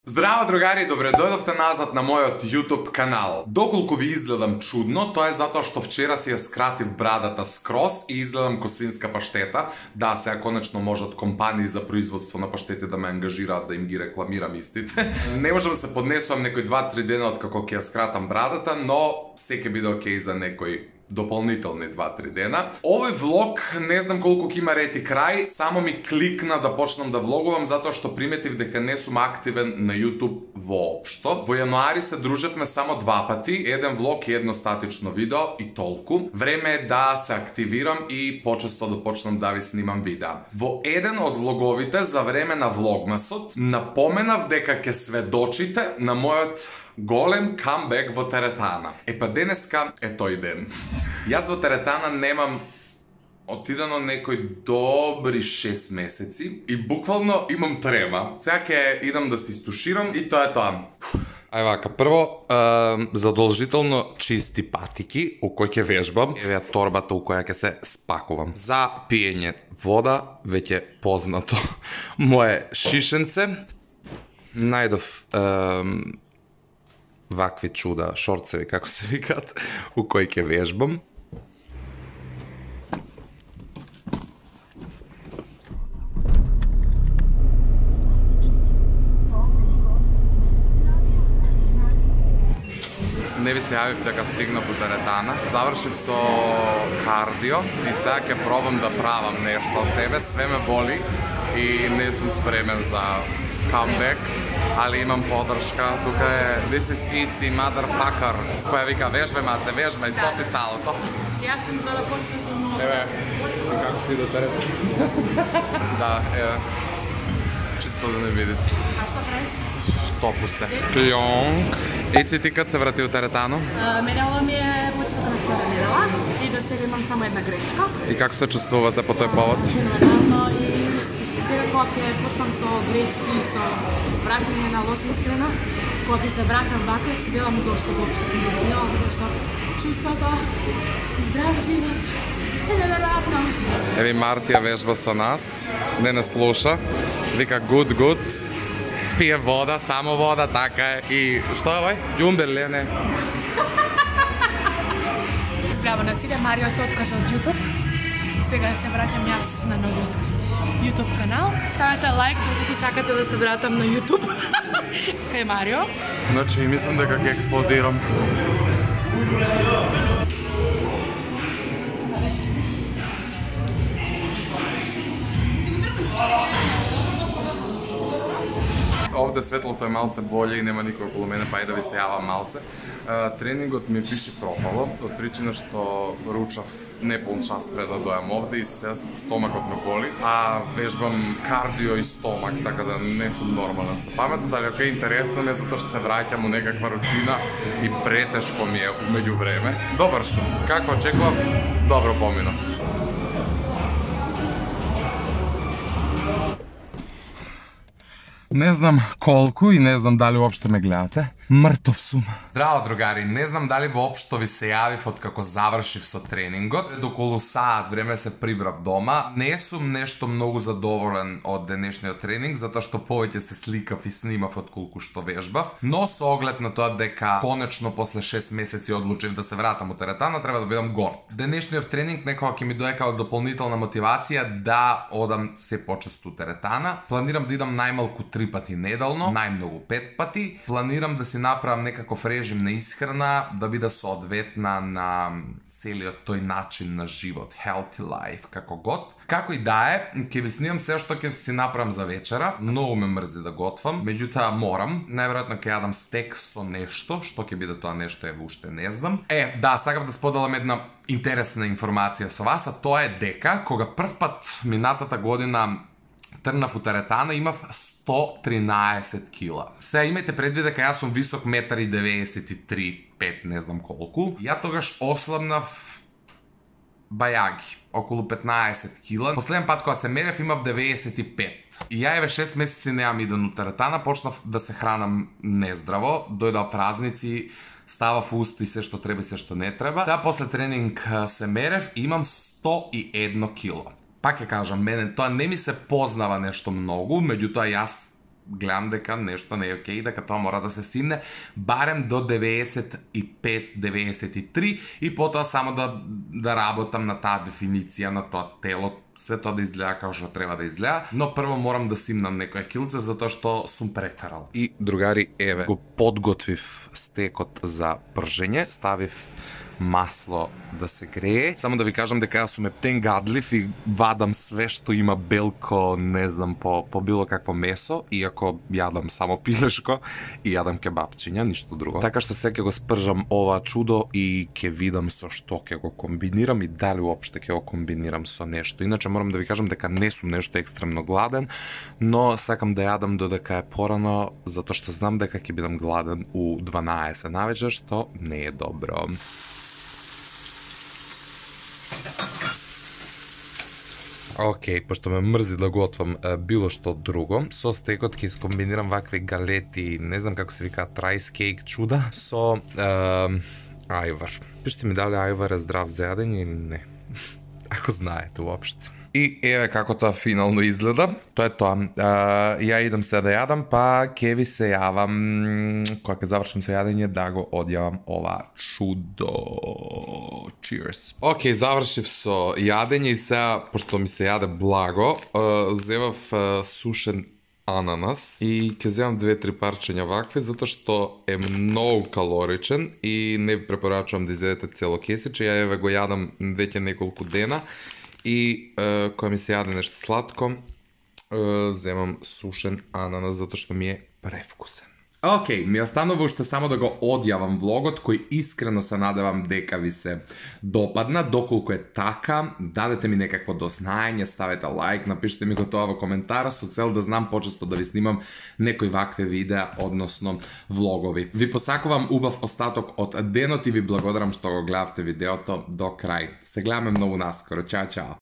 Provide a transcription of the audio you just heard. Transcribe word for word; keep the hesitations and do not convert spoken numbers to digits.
Здраво, другари, добре дојдовте назад на мојот YouTube канал. Доколку ви изгледам чудно, тоа е затоа што вчера си ја скратив брадата скроз и изгледам ко свинска паштета. Да, сега конечно можат компании за производство на паштети да ме ангажираат да им ги рекламирам истите. Не можам да се поднесувам некои два-три дена од како ќе ја скратам брадата, но се ќе биде окей за некој дополнителни два-три дена. Овој влог не знам колку ќе има ред и крај, само ми кликна да почнам да влогувам затоа што приметив дека не сум активен на YouTube воопшто. Во јануари се дружевме само два пати, еден влог и едно статично видео и толку. Време е да се активирам и почесто да почнам да ви снимам видеа. Во еден од влоговите за време на влогмасот напоменав дека ќе сведочите на мојот голем камбек во теретана. Е па денеска е тој ден. Јас во теретана немам отидено некој добри шест месеци и буквално имам трема. Сега ќе идам да се истуширам и тоа е тоа. Ај вака, прво, е, задолжително чисти патики у кој ќе вежбам. Еве торбата у која ќе се спакувам. За пиење вода, веќе познато. Моje шишенце. Најдов е, вакви чуда, шорцеви, како се викаат, у кои ќе вежбам. Не ви се јавив дека стигнав до теретана. Завршив со кардио и сега ќе пробам да правам нешто од себе. Све ме боли и не сум спремен за камбек, али имам подршка. Тука е This is Itzy motherfucker, која вика вежбај маце, вежбај, да, топи салото. Јас сум за да почне со много. Еве, како си до теретана? Да, еве. Чисто да не видите. А што правиш? Топу се. Пјонг. Ици, ти кад се врати у теретано? Мене ова ми е почеток на втора недела и до сега имам само една грешка. И како се чувствувате по тој повод? Феноменално и сега кога ќе почнам со грешки и со враќање на лоша искрена, кога ќе се вратам вака, си велам зошто воопшто сум добила, затоа што чувството со здрав живот е неверојатно. Еви Мартија вежба со нас, не не слуша, вика good good, пие вода, само вода, така е. И што е овој? Ѓумбер не? Здраво на сите, Марио се откажа од YouTube. Сега се враќам јас на новиот YouTube канал. Ставете лайк доколку сакате да се вратам на YouTube. Кај Марио. Значи, мислам дека ќе експлодирам. Овде светлото е малце боле и нема никој околу мене, па и да ви се јавам малце. Тренингот ми пише пропало, од причина што ручав неполн час пред да дојам овде и се стомакот ме боли, а вежбам кардио и стомак, така да не сум нормален со паметот, али ако е интересно ме затоа што се враќам у некаква рутина и претешко ми е меѓу време. Добар сум, како очекував, добро поминав. Не знам колку и не знам дали уопшто ме гледате. Мртов сум. Здраво, другари, не знам дали воопшто ви се јавив од како завршив со тренингот. Пред околу саат време се прибрав дома. Не сум нешто многу задоволен од денешниот тренинг, затоа што повеќе се сликав и снимав од колку што вежбав. Но со оглед на тоа дека конечно после шест месеци одлучив да се вратам у теретана, треба да бидам горд. Денешниот тренинг некога ќе ми дојде како дополнителна мотивација да одам се почесто у теретана. Планирам да идам најмалку три пати неделно, најмногу пет пати. Планирам да си направам некаков режим на исхрана, да биде соодветна на целиот тој начин на живот, healthy life, како год. Како и да е, ќе ви снимам се што ќе си направам за вечера. Многу ме мрзи да готвам, меѓутоа морам. Најверојатно ќе јадам стек со нешто, што ќе биде тоа нешто, еве уште не знам. Е, да, сакав да споделам една интересна информација со вас, а тоа е дека кога прв пат минатата година трнав у теретана, имав сто тринаесет кила. Сега имајте предвид дека јас сум висок еден и деветдесет и три, пет, не знам колку. Ја тогаш ослабнав бајаги, околу петнаесет кила. Последен пат кога се мерев имав деветдесет и пет. И ја еве шест месеци неам иден у теретана, почнав да се хранам нездраво, дојдоа празници, ставав уста и се што треба и се што не треба. Сега после тренинг се мерев и имам сто и едно кило. Пак ќе кажам, мене тоа не ми се познава нешто многу, меѓутоа јас гледам дека нешто не е окей, дека тоа мора да се симне барем до деветдесет и пет деветдесет и три и потоа само да да работам на таа дефиниција на тоа тело, све тоа да изгледа како што треба да изгледа, но прво морам да симнам некоја килце затоа што сум претерал. И другари, еве го подготвив стекот за пржење, ставив масло да се грее. Само да ви кажам дека јас сум ептен гадлив и вадам све што има белко, не знам, по, по било какво месо, иако јадам само пилешко и јадам кебапчиња, ништо друго. Така што сега ќе го спржам ова чудо и ќе видам со што ќе го комбинирам и дали уопште ќе го комбинирам со нешто. Иначе морам да ви кажам дека не сум нешто екстремно гладен, но сакам да јадам додека е порано, затоа што знам дека ќе бидам гладен у дванаесет навечер, што не е добро. Океј, okay, пошто ме мрзи да готвам е, било што друго, со стекот ќе искомбинирам вакви галети, не знам како се викаат, райс кейк чуда, со е, ајвар. Пишете ми дали ајвар е здрав за јадење или не, ако знаете уопште. И еве како тоа финално изгледа. Тоа е тоа. Uh, ја идам се да јадам, па ќе ви се јавам кога ќе завршим со јадење да го одјавам ова чудо. Cheers. Океј, okay, завршив со јадење и сега, пошто ми се јаде благо, uh, зевав uh, сушен ананас и ќе земам две-три парчења вакви, затоа што е многу калоричен и не ви препорачувам да изедете цело кесиче. Ја еве го јадам веќе неколку дена. И е, кога ми се јаде нешто сладко, е, земам сушен ананас затоа што ми е превкусен. Океј, okay, ми останува уште само да го одјавам влогот, кој искрено се надевам дека ви се допадна. Доколку е така, дадете ми некакво дознаење, ставете лайк, напишете ми го тоа во коментара со цел да знам почесто да ви снимам некои вакви видеа, односно влогови. Ви посакувам убав остаток од денот и ви благодарам што го гледавте видеото до крај. Се гледаме многу наскоро. Чао, чао!